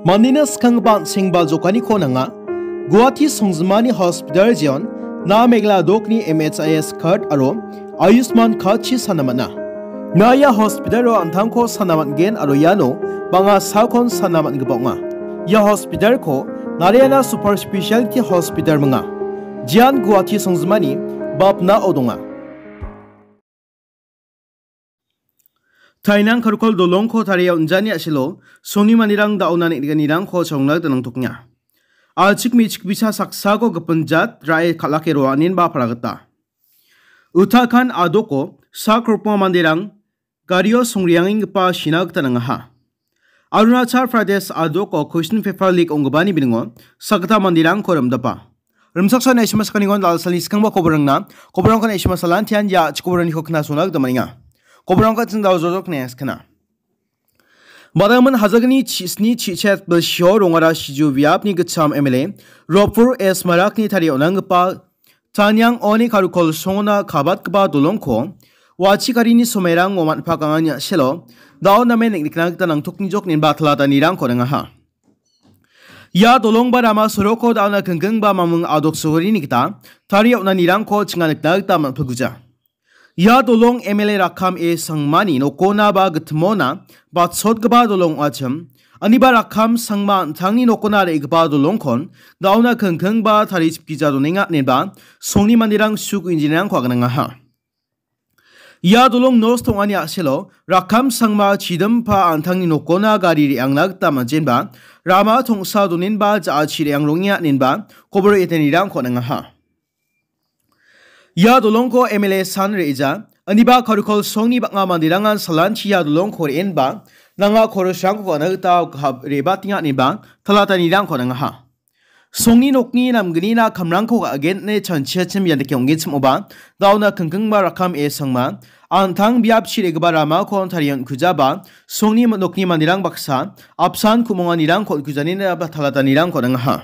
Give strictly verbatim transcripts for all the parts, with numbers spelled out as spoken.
Mandina skanggipa an·sengba jokaniko nanga. Guwahati songjinmani hospital jeon, na Meghalaya dokni M H I S card aro Ayushman card-chi sana man·a. Na ia hospital-o an·tangko sana man·gen aro iano bang·a sakon sana man·gipa ong·a. Ia hospital-ko Narayana Super Specialty Hospital minga. Jeon Guwahati songjinmani bapnao donga. Tainang Karkol dolongko tarie on·jani a·selo, songni manderang da·ona neng·nikanirangko chalongna gita nangtokenga. A·chik me·chik bisa saksako gipin jat ra·e kal·ake roaninba palagita. Uttarakhand a·doko sak rokbonga manderang gario songreangenggipa sina gita nangaha. Arunachal Pradesh a·doko question paper leak ong·gipani biningo sakgita manderangko rim·dapa. Rimchaksoani aisima sakanigon dal·salni skangba koborangna, koborangko aisima salantian ia a·chik koboraniko knasona gita man·enga. Koborangko ching dal jojok ne skana. Badaman hajalgni chi-, sni chichet bilsio rongara siju biapni gitcham M L A Ropur S Marakni tarie on·anggipa Tanyang Oni Karukol songona kabatgipa dolongko wachi garini somairang oman·pakangani a·selo dao namen neng·nikna gita nangtoknijok inba talatanirangko ringaha. Ia dolongba rama soroko da·ona kengkengba mamung a·dok sorini gita tarie on·anirangko chinga nikna gita man·pilguja. Ia dolong M L A Rakham A Sangmani nokona ba gitmona batsotgipa dolong ong·achim. Aniba Rakham Sangma an·tangni nokona re·gipa dolongkon da·ona kengkengba tarie chipgija donenga inenba songni manderang suk injinirangko aganangaha. Ia dolong nosto ong·ani a·selo Rakham Sangma chidimpa an·tangni nokona gari re·angna gita man·jenba rama tongsa donenba ja·achi re·angrongenga inenba kobor etenirangko on·angaha. Ia dolongko M L A san re·ja, aniba Karikol songni bang·a manderangan salanchi ia dolongko re·enba nanga korosrangko gana gita gahap re·batenga inenba talatanirangko on·angaha. Songni nokni namgnina kamrangko ga·gentne chanchiachim ia dake ong·genchimoba, da·ona kengkengba Rakham A Sangma, an·tang biapchi re·gipa ramako tarie on·kujaba, songni nokni manderang baksa, apsan ku·monganirangko on·kujanina ba talatanirangko on·angaha.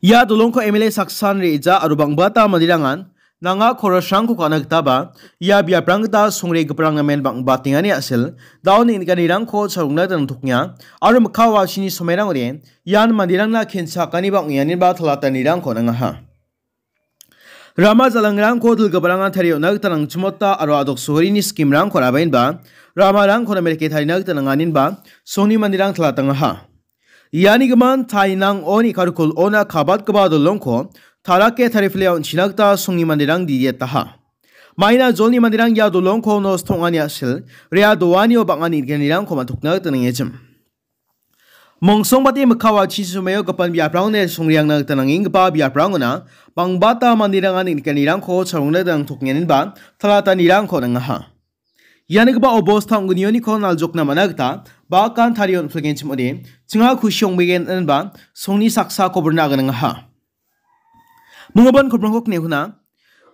Ia dolongko M L A saksan re·ja aro bang·bata manderangan nanga korosrangko ka·na gitaba, ia biaprang gita songregiparang namen bang·batengani a·sel, da·o neng·nikanirangko chalongna gita nangtokenga, aro mikka wachini somairangode ian manderangna kenchakaniba ong·enganiba talatanirangko on·angaha. Rama jalangrangko dilgiparangan tarie on·na gita nangchimota aro a·dok sorini skimrangko rabaenba, ramarangko namerike tarina gita nanganinba, songni manderang talatangaha. Iani gimin Tainang Oni Karikol ona kabatgipa dolongko tarake tarifile on·china gita songni manderang didietaha. Maina jolni manderang ia dolongko nosto ong·ani a·sel, rea doanio bang·a neng·nikanirangko man·tokna gita nangechim. Mongsongbate mikka wachini somaio gipan biaprangone songreangna gita nangenggipa biaprangona bangbata manderangan neng·nikanirangko chalongna gita nangtokenganinba talatanirangko nangaha. Ianigipa obosta ong·gnioniko naljokna man·a gita bakan tarie on·pilgenchim ong·ode, chinga kusi ong·begen inenba songni saksa koborna aganangaha. Minggipan koborangko kine huna,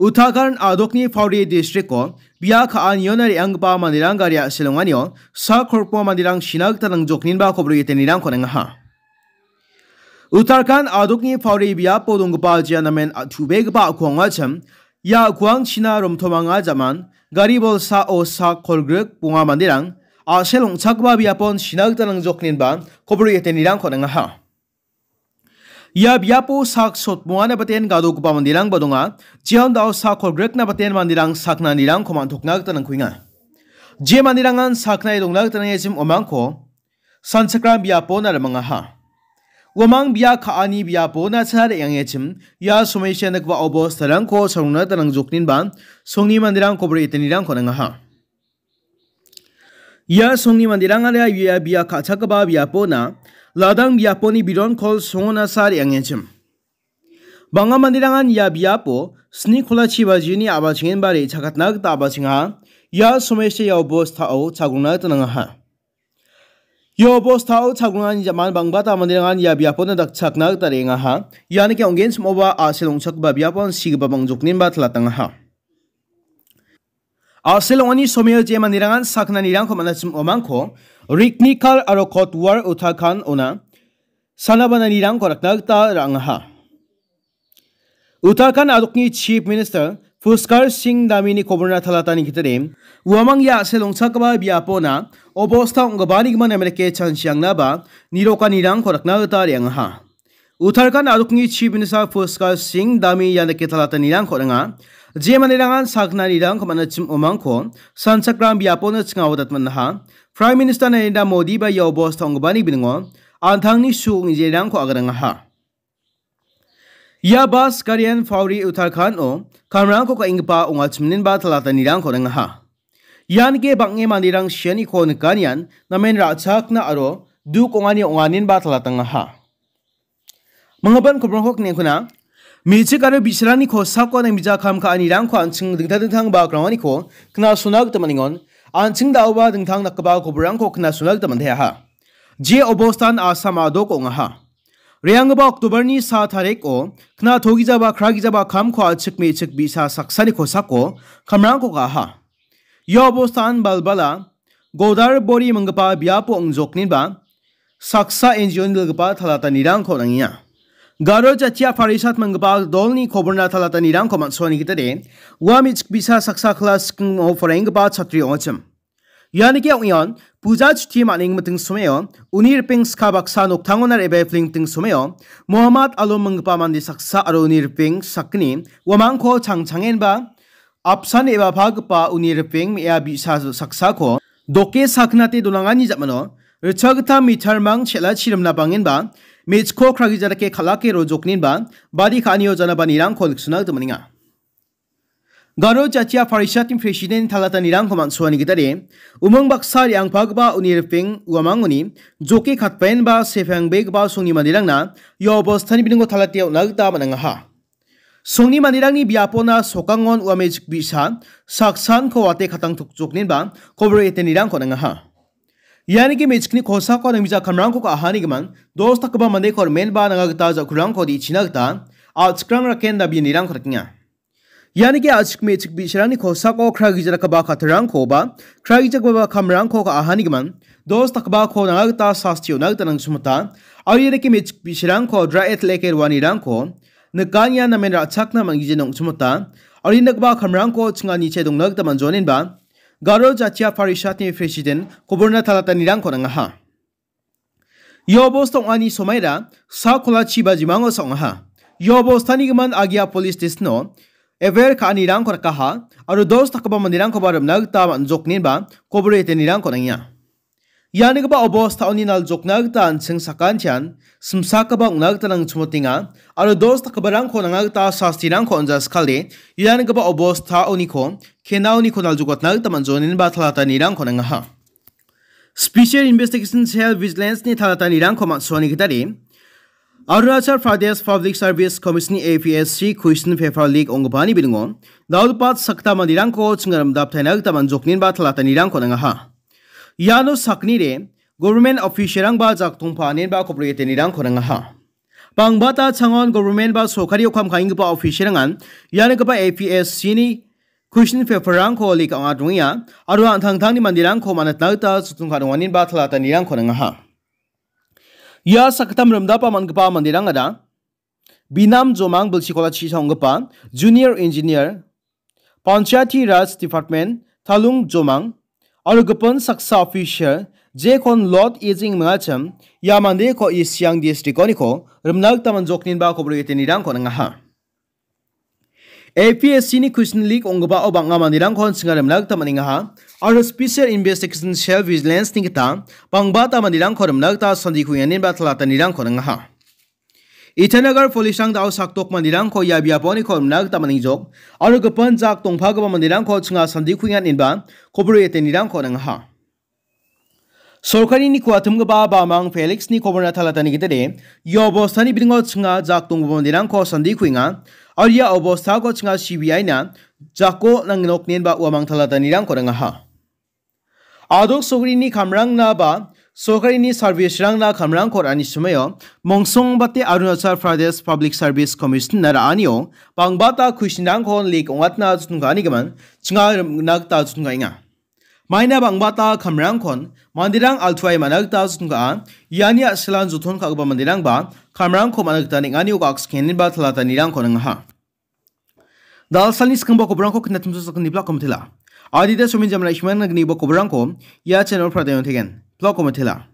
Uttarakhand a·dokni Pauri districtko bia ka·aniona re·anggipa manderang gari a·selonganio sak kolgrikbonga manderang sina gita nangjokninba kobor etenirangko nangaha. Uttarakhand a·dokni Pauri biapo donggipa jia namen a-, chubegipa a·kuangachim, ia a·kuangchina romtomanga jaman, gari bolsao sak kolgrikbonga manderang a·sel ong·chakgipa biapon sina gita nangjokninba kobor etenirangko nangaha. Ia biapo sak sotbongana baten gadogipa manderangba donga, jeon da·o sak kolgrikna baten manderang saknanirangko man·tokna gita nangkuenga. Je manderangan saknae dongna gita nangechim uamangko sanchakram biapona rimangaha. Uamang bia ka·ani biapona cha re·angechim, ia somesya nikgipa obostarangko chalongna gita nangjokninba songni manderang kobor etenirangko nangaha. Ia songni manderangara ia bia ka·chakgipa biapona ladang biaponi biron kol songona sa re·angechim. Bang·a manderangan ia biapo sni kolachi bajini a·bachengenba re·chakatna gita a·bachengaha. Ia somesya ia obostao chagrongna gita nangaha. Ia obostao chagrongani jaman bangbata manderangan ia biapona dakchakna gita re·angaha. Ianike ong·genchimoba a·sel ong·chakgipa biapon sigipa bangjokninba talatangaha. A·sel ong·ani somio je manderangan saknanirangko man·achim uamangko Riknikar aro Kotwar Uttarakhand ona sanabananirangko rakna gita ra·angaha. Uttarakhand a·dokni Chief Minister Pushkar Singh Dhamini koborna talatani gitade, uamang ia a·sel ong·chakgipa biapona obosta ong·gipanikoba namen dake chanchiangnaba nirokanirangko nikna gita re·angaha. Uttarakhand a·dokni Chief Minister Pushkar Singh Dhami ian dake talatanirangko ong·a. Je manderangan saknanirangko man·achim omangko sanchakram biapona chingao datmannaha. Prime Minister Narendra Modi ba ia obosta ong·gipani biningo an·tangni su ong·injerangko agarangaha. Ia bas garian Pauri Uttarakhand-o kamrangko ka·enggipa ong·achimninba talatanirangko ong·aha. Ian ge bang·e manderang sianiko nikanian namen ra·chakna aro duk ong·ani ong·aninba talatangaha. Manggipan kobrongko kniengkuna, me·chik aro bi·sarangni kosako nang bijak kam ka·anirangko an·ching dingtang dingtang bagrawaniko knasona gita man·engon, an·ching da·oba dingtang dakgipa kobrangko knasona gita man·teaha. Je obostan Assam a·dok ong·aha. Re·anggipa October-ni sa tariko knatogijaba kragijaba kamko a·chik me·chik bi·sa saksani kosako kamrangko ka·aha. Ia obostan balbala Godarbori minggipa biapo ong·jokninba saksa N G O-ni dilgipa talatanirangko nangenga. Garo Jatia Parishat minggipa dolni koborna talatanirangko man·soani gitade ua me·chik bi·sa saksa klas sikimo poraienggipa chatri ong·achim. Ianike ong·eon puja chuti man·eng miting someo uni ripeng ska baksa noktangona re·bae pling miting someo Mohammad Alom minggipa mande saksa aro uni ripeng sakgni uamangko changchangenba apsan re·bapagipa uni ripeng me·a bi·sa saksako doke saknate donangani ja·mano ritchagita mitarmang chel·achi rimna bangenba me·chikko kragija dake kal·ake rojokninba badi ka·anio janabanirangko niksona gita man·enga. Garo Jatia Parishatni President talatanirangko man·soani gitade, umang baksa re·angpagipa uni ripeng uamangoni joke katbaenba sepangbegipa songni manderangna ia obostani biningo talate on·na gita man·angaha. Songni manderangni biapona sokangon ua me·chik bi·sa saksanko wate katang tokjokninba kobor etenirangko nangaha. Ianike me·chikni kosako nang bijak kamrangko ka·ahanigimin dos dakgipa mandeko rimenba nanga gita ja·kurangko de·china gita a·chikrang raken dabianirangko rikenga. Ianike a·chik me·chik bi·sarangni kosako kragija dakgipa kattarangko ba kragija dakgipa kamrangko ka·ahanigimin dos dakgipako nanga gita sasti on·na gita nangchimota. Aro ianike me·chik bi·sarangko dra·e til·eke roanirangko nikania namen ra·chakna man·gijin ong·chimota. Aro ia dakgipa kamrangko chingani che dongna gita man·joaninba Garo Jatia Parishatni President koborna talatanirangko nangaha. Ia obosta ong·ani somaira sa kolachi ba jimango sa ong·aha. Ia obostani gimin agia police station-o ever ka·anirangko rikaha aro dos dakgipa manderangkoba rimna gita man·jokninba kobor etenirangko nangenga. Ianigipa obostaoni naljokna gita an·ching sakantian simsakoba ong·na gita nangchimotenga aro dos dakgiparangko nanga gita sastirangko on·jaskale ianigipa obostaoniko kenaoniko naljokatna gita man·joaninba talatanirangko nangaha. Special Investigation Cell Vigilance-ni talatanirangko man·soani gitade, Arunachal Pradesh Public Service Commission, A P S C, question paper leak ong·gipani bilingo dal·gipa sakta manderangko chingarimdaptaina gita man·jokninba talatanirangko nangaha. Iano saknide government official-rangba jaktongpa anenba kobor etenirangko nangaha. Bangbata changon government ba sorkari okam ka·enggipa official-rangan ianigipa A P S C-ni question paper-rangko leak ong·a dongenga aro an·tangtangni manderangko man·atna gita jottongka donganinba talatanirangko nangaha. Ia sakgittam rimdapa man·gipa manderangara Binam Jomang bilsikola chisa ong·gipa junior engineer, Panchayati Raj Department, Talung Jomang, aro gipin saksa official, jekon Lord Ejing mingachim, ia mandeko East Siang district-oniko rimna gita man·jokninba kobor etenirangko nangaha. A P S C-ni question leak ong·gipao bang·a manderangko chinga rimna gita man·engaha, aro Special Investigation Cell Vigilance-ni gita bangbata manderangko rimna gita sandiko uianinba talatanirangko nangaha. Itanagar police-rang da·o sakdok manderangko ia biaponiko rimna gita man·engjok, aro gipin jak dongpagipa manderangko chinga sandiko uianinba kobor etenirangko nangaha. Sorkarini kuatimgipa Bamang Felix-ni koborna talatani gitade, ia obostani bilingo chinga jak donggipa manderangko sandiko uienga, aro ia obostako chinga C B I-na jako nangnoknenba uamang talatanirangko nangaha. Adok sokrini kamrangna ba sorkarini service-rangna kamrangko ra·ani somoio mongsongbate Arunachal Pradesh Public Service Commission-na ra·anio bangbata question-rangko leak ong·atna joton ka·anigimin chinga rimna gita joton ka·enga. Maina bangbata kamrangkon manderang altuae man·a gita joton ka·a, iani a·silan joton ka·gipa manderangba kamrangko man·a gita neng·anio gakskengenba talatanirangko nangaha. Dalsalni skangba koborangko knatimso sakgni blak komtila. Adita somin jamraisman nagni bo koborangko ia channel pradayong tegen. Plok kometela.